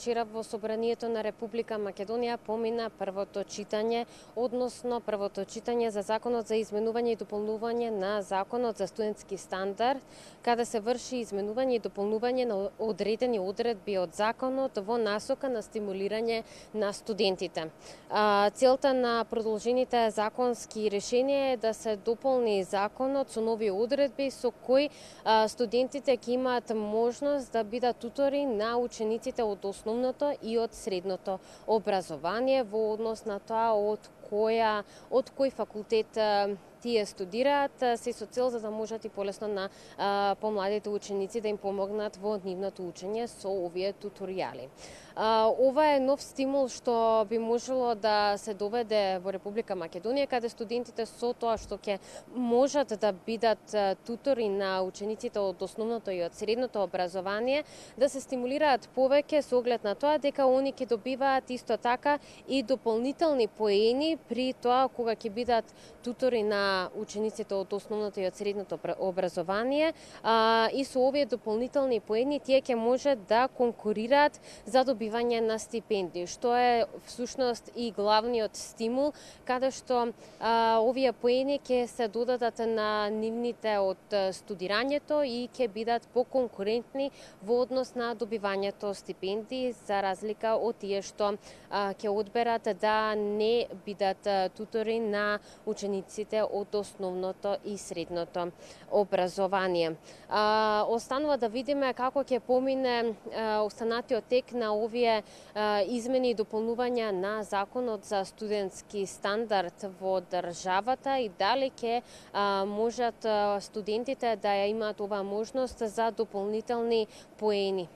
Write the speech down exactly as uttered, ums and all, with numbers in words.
Вчера во Собранието на Република Македонија помина првото читање, односно првото читање за Законот за изменување и дополнување на Законот за студентски стандард, каде се врши изменување и дополнување на одредени одредби од Законот во насока на стимулирање на студентите. Целта на продолжените законски решенија е да се дополни Законот со нови одредби со кои студентите ќе имаат можност да бидат тутори на учениците од основното и од средното образование во однос на тоа од која од кој факултет тие студираат, се со цел за да можат и полесно на а, помладите ученици да им помогнат во нивното учење со овие туторијали. А, ова е нов стимул што би можело да се доведе во Република Македонија, каде студентите со тоа што ќе можат да бидат тутори на учениците од основното и од средното образование, да се стимулираат повеќе со оглед на тоа дека они ќе добиваат исто така и дополнителни поени при тоа кога ќе бидат тутори на учениците од основното и од средното образование, а, и со овие дополнителни поени тие ќе можат да конкурираат за добивање на стипендии, што е всушност и главниот стимул, каде што а, овие поени ќе се додадат на нивните од студирањето и ќе бидат поконкурентни во однос на добивањето стипендии, за разлика од тие што а, ќе одберат да не бидат тутори на учениците од основното и средното образование. А, останува да видиме како ќе помине а, останатиот тек на овие а, измени и дополнувања на Законот за студентски стандард во државата и дали ќе а, можат а, студентите да ја имаат оваа можност за дополнителни поени.